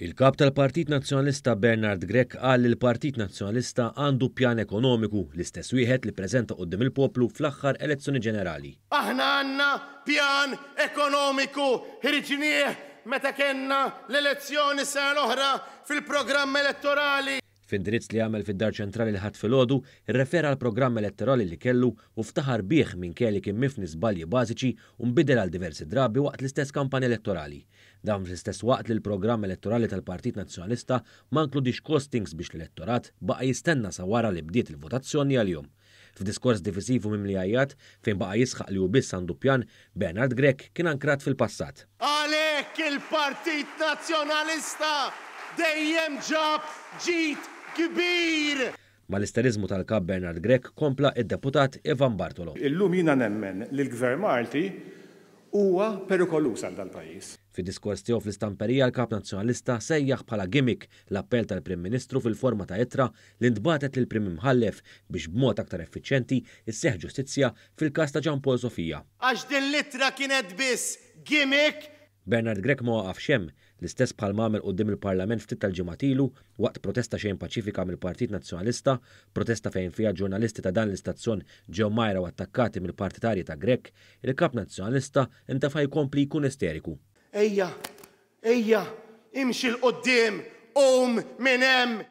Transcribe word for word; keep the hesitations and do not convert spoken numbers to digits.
Il-kap tal-Partit Nazzjonalista Bernard Grech qal li l-Partit Nazzjonalista għandu pjan ekonomiku, l-istess wieħed li ppreżenta quddiem il-poplu fl-aħħar elezzjoni ġenerali. Aħna għandna pjan ekonomiku, ħriġnieh meta kellna l-elezzjoni s-sena l-oħra fil-programm elettorali. F'indirizz li għamel fid-Dar Ċentrali l-Ħadd filgħodu, irrefera għall-programm elettorali li kellu u ftaħar bih minkejja li kien mifni żbalji bażiċi u nbidel għal diversi drabi waqt l-istess kampanja elettorali. Dan fl-istess waqt li l-programm elettorali tal-Partit Nazzjonalista ma nkludix costings biex l-elettorat baqa' jistenna sa wara li bdiet il-votazzjoni għalihom. F'diskors divisiv u mimli għajjat, fejn baqa' jisħaq li hu biss għandu pjan, Bernard Grech kien ankrat fil-passat. Għalhekk il-Partit Nazzjonalista dejjem ġab ġid kbir! Mal-isteriżmu tal-Kap Bernard Grech kompla id-deputat Ivan Bartolo. Illum jiena nemmen li l-Gvern Malti huwa perikoluż għal dal-pajjiż. Fid-diskors tiegħu fl-istamperija, l-Kap Nazzjonalista sejjaħ bħala gimmick l-appell tal-Prim Ministru fil-forma ta' ittra li ntbagħtet lill-Prim Imħallef biex b'mod aktar effiċjenti isseħħ ġustizzja fil-każ ta' Jean Paul Sofia. Għax din l-ittra kienet biss gimmick. Bernard Grech ma waqafx hemm, l-istess bħal għamel quddiem il-Parlament ftit tal-ġimgħat ilu waqt protesta xejn paċifika mill-Partit Nazzjonalista, protesta fejn fiha ġurnalisti ta' dan l-istazzjon ġew mgħajra u attakkati mill-partitarji ta' Grech, il-Kap Nazzjonalista intefa' jkompli jkun isteriku. Ejja, ejja, imxi 'l quddiem, qum minn hemm!